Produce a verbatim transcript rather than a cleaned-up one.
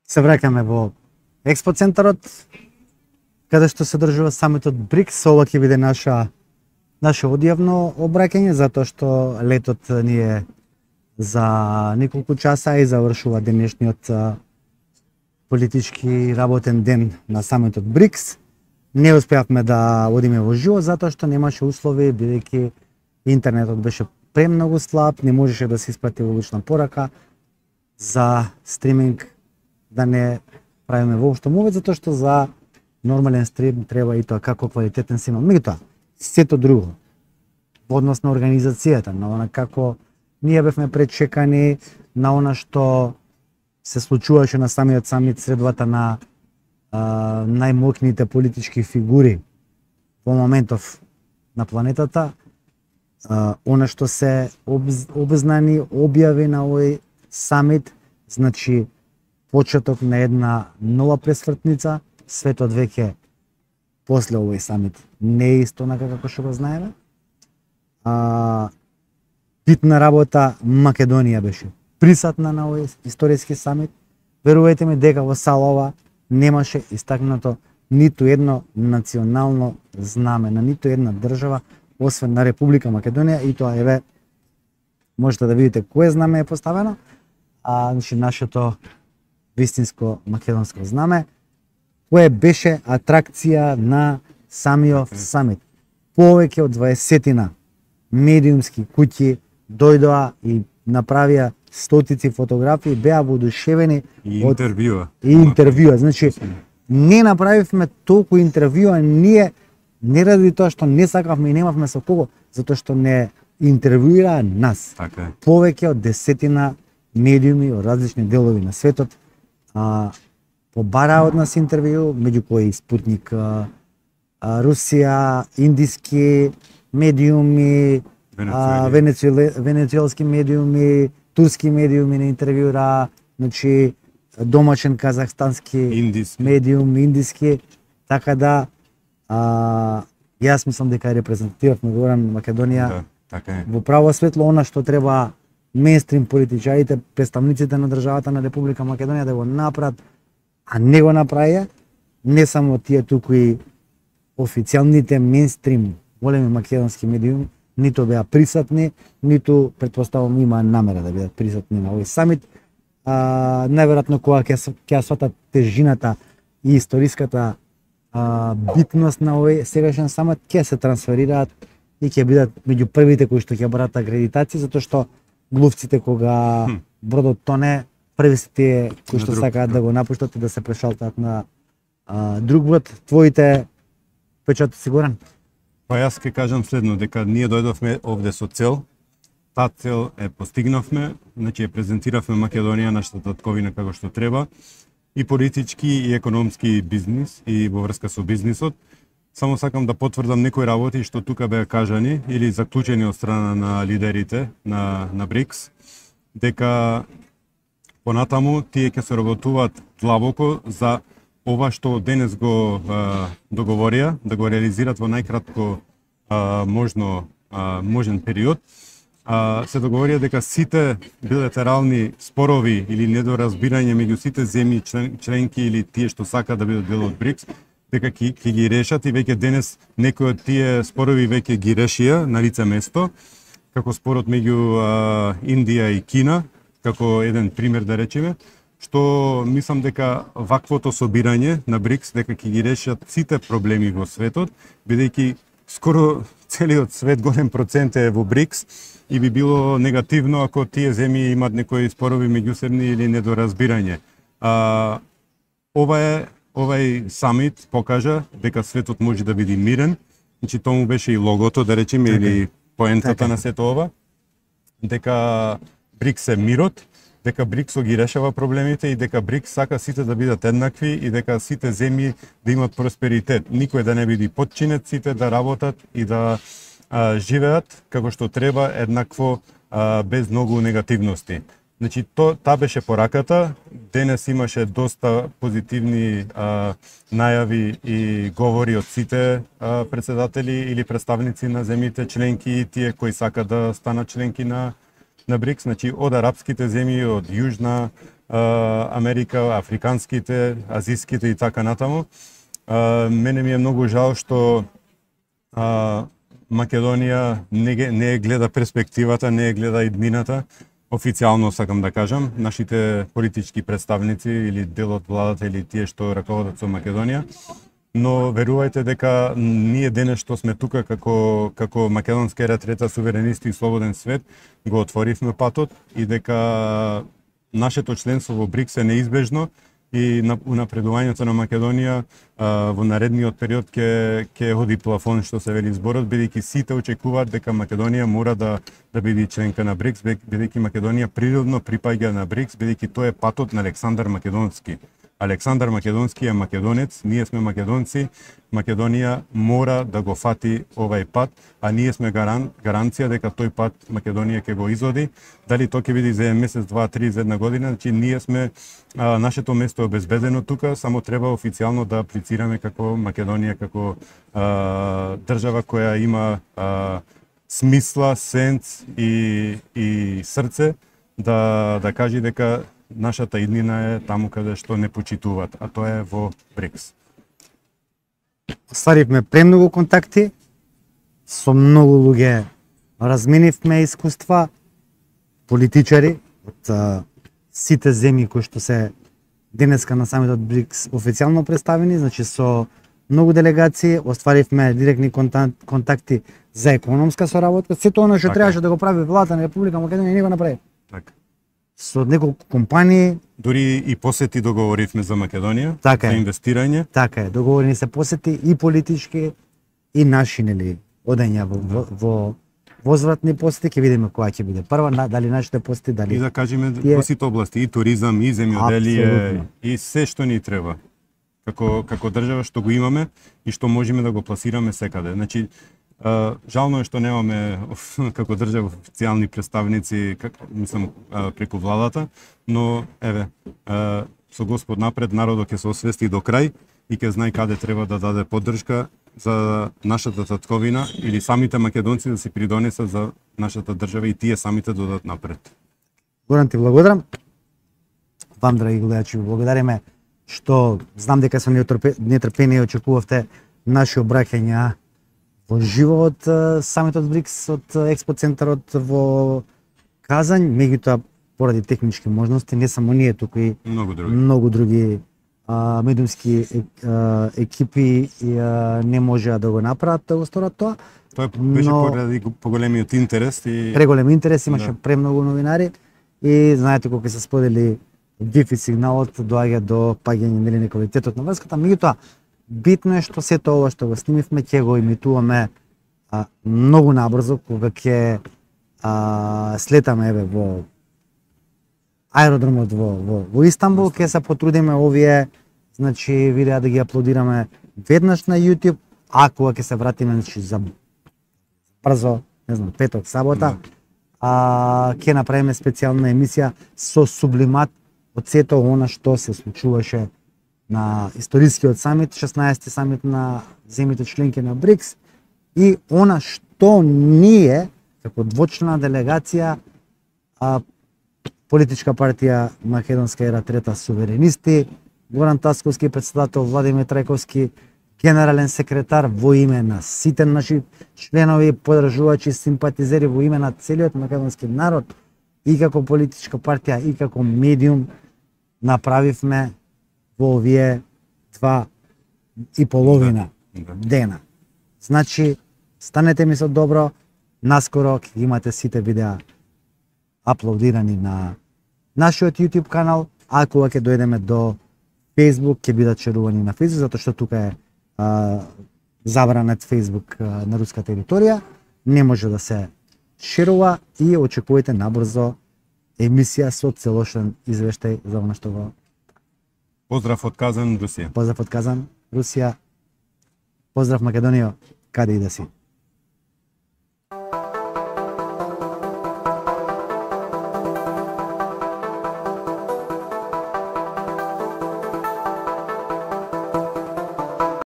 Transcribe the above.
Се враќаме во Експо центарот, каде што се држува самитот БРИКС. Ова ќе биде наша наше одјавно обраќање, затоа што летот ни е за неколку часа и завршува денешниот политички работен ден на самитот БРИКС. Не успеавме да одиме во живо затоа што немаше услови, бидејќи интернетот беше премногу слаб, не можеше да се испрати улична порака за стриминг, да не правиме воопшто мовет, затоа што за нормален стрим треба и тоа како квалитетен сигнал. Меѓутоа, сето друго, во однос на организацијата, на она како ние бевме пречекани, на она што се случуваше на самиот самит средбата на а, најмоќните политички фигури во моментов на планетата, а, она што се обзнани, објави на овој самит, значи почеток на една нова пресвртница. Светот веќе после овој самит не е исто онака како што го знаеме. А, битна работа, Македонија беше присутна на овој историски самит. Верувајте ми дека во салова немаше истакнато ниту едно национално знаме на ниту една држава, освен на Република Македонија, и тоа еве можете да видите кое знаме е поставено, а значи нашето вистинско македонско знаме, кое беше атракција на самиот самит. Повеќе од дваесетина медиумски куќи дојдоа и направија стотици фотографии, беа воодушевени и интервјуа. И интервјуа. Значи, не направивме толку интервјуа, ние не ради тоа што не сакавме и немавме со кого, затоа што не интервјуираа нас. Така е. Повеќе од десетина медиуми од различни делови на светот а, побараа од нас интервју, меѓу кои Спутник, а, а, Русија, индиски медиуми, а, венецуеле, венецуелски медиуми, турски медиуми не интервјура, значи домашен казахстански индиски. медиум, индиски, така да а, јас мислам дека репрезентативавме Горан Македонија Да, така е. во право светло она што треба мејнстрим политичарите, представниците на државата на Република Македонија да го направат, а не го направија, не само тие туку и официјалните мејнстрим големи македонски медиуми, ниту беа присутни, ниту претпоставувам има намера да бидат присутни на овој самит. А, најверојатно кога ќе ќе сватат тежината и историската а, битност на овој сегашен самит, ќе се трансферираат и ќе бидат меѓу првите кои што ќе барат акредитација, затоа што глувците кога бродот тоне, први се тие кои што сакаат да го напуштат и да се прешалтаат на а, друг брод. Твоите печати сигурен? Па јас ќе кажам следно, дека ние дојдовме овде со цел, таа цел е постигнавме, значи ја презентиравме Македонија, нашата татковина како што треба, и политички и економски бизнис и во врска со бизнисот. Само сакам да потврдам некои работи што тука беа кажани или заклучени од страна на лидерите на на БРИКС, дека понатаму тие ќе се работуваат длабоко за ова што денес го а, договорија, да го реализират во најкратко а, можно а, можен период. А, се договорија дека сите билатерални спорови или недоразбирање меѓу сите земји член, членки или тие што сакаат да бидат дел од БРИКС, дека ќе ќе ги решат, и веќе денес некои од тие спорови веќе ги решија на лице место, како спорот меѓу а, Индија и Кина, како еден пример да речеме, што мислам дека ваквото собирање на БРИКС дека ќе ги решат сите проблеми во светот, бидејќи скоро целиот свет голем процент е во БРИКС и би било негативно ако тие земји имат некои спорови меѓусебни или недоразбирање. А, ова е овај самит покажа дека светот може да биде мирен, значи тому беше и логото да речеме или поентата на сето ова, дека БРИКС е мирот, дека БРИКС ги решава проблемите и дека БРИКС сака сите да бидат еднакви и дека сите земји да имат просперитет. Никој да не биде потчинет, сите да работат и да а, живеат како што треба, еднакво, а, без многу негативности. Значи, то, та беше пораката. Денес имаше доста позитивни а, најави и говори од сите а, председатели или представници на земјите членки и тие кои сакаат да станат членки на на БРИКС, значи од арапските земји, од Јужна Америка, африканските, азиските и така натаму. Мене ми е многу жал што Македонија не, не гледа перспективата, не гледа иднината. Официјално сакам да кажам, нашите политички представници или дел од владата или тие што раководат со Македонија. Но верувајте дека ние денес што сме тука како како македонска ера трета суверенисти и слободен свет го отворивме патот и дека нашето членство во БРИКС е неизбежно и на унапредувањето на Македонија а, во наредниот период ќе ќе оди плафон што се вели зборот, бидејќи сите очекуваат дека Македонија мора да да биде членка на БРИКС, бидејќи Македонија природно припаѓа на БРИКС, бидејќи тоа е патот на Александар Македонски. Александар Македонски е македонец, ние сме македонци, Македонија мора да го фати овај пат, а ние сме гаран, гаранција дека тој пат Македонија ќе го изоди. Дали тоа ќе биде за еден месец, два, три, за една година, значи ние сме, а, нашето место е обезбедено тука, само треба официјално да аплицираме како Македонија, како а, држава која има а, смисла, сенс и, и срце да, да кажи дека нашата иднина е таму каде што не почитуваат, а тоа е во БРИКС. Остваривме премногу контакти со многу луѓе, разменивме искуства, политичари од а, сите земји кои што се денеска на самитот БРИКС официјално представени, значи со многу делегации, остваривме директни контакти за економска соработка, сето она што требаше да го прави владата на Република Македонија не го направи. Така. Со неколку компании. Дури и посети договоривме за Македонија, така за е. инвестирање. Така е, договорени се посети и политички и наши, нели, одења во, во, во возвратни посети, ќе видиме која ќе биде прва, дали нашите посети, дали... И да кажеме тие... во сите области, и туризам, и земјоделие, Апсолутно. и се што ни треба. Како, како држава што го имаме и што можеме да го пласираме секаде. Значи, Uh, жално е што немаме како држава официјални представници, как, мислам, uh, преку владата, но еве, uh, со Господ напред народот ќе се освести до крај и ќе знае каде треба да даде поддршка за нашата татковина или самите македонци да се придонесат за нашата држава и тие самите да додат напред. Горан, ти благодарам. Вам, драги гледачи, благодариме што знам дека со нетрпение очекувавте наши обраќања во живо од самитот БРИКС, од Експо центарот во Казањ, меѓутоа поради технички можности, не само ние, туку и многу други, многу други а, медиумски а, екипи и, а, не можеа да го направат да го сторат тоа. Тоа беше но... поради поголемиот интерес и преголем интерес, имаше да. премногу новинари и знаете кога се сподели Wi-Fi сигналот доаѓа до паѓање нели на квалитетот на врската, меѓутоа битно е што сето ова што го снимивме ќе го имитуваме а, многу набрзо кога ќе а, слетаме еве во аеродромот во во, во Истанбул, ќе се потрудиме овие значи видеа да ги аплодираме веднаш на YouTube, а кога ќе се вратиме значи за брзо, не знам, петок, сабота, а ќе направиме специјална емисија со сублимат од сето она што се случуваше на историскиот самит, шеснаесети самит на земјите членки на БРИКС и она што ние како двочлена делегација а, политичка партија Македонска ера трета суверенисти, Горан Тасковски председател, Владимир Трајковски генерален секретар, во име на сите наши членови, подржувачи, симпатизери, во име на целиот македонски народ и како политичка партија и како медиум направивме во овие два и половина да, да. дена. Значи, станете ми со добро, наскоро ќе имате сите видеа аплодирани на нашиот YouTube канал, а кога ќе дојдеме до Facebook ќе бидат шерувани на Facebook, затоа што тука е а, забранет Facebook а, на руска територија, не може да се шерува и очекувате набрзо емисија со целошен извештај за она што го Поздрав од Казан, Русија. Поздрав од Казан, Русија. Поздрав Македонија, каде и да си.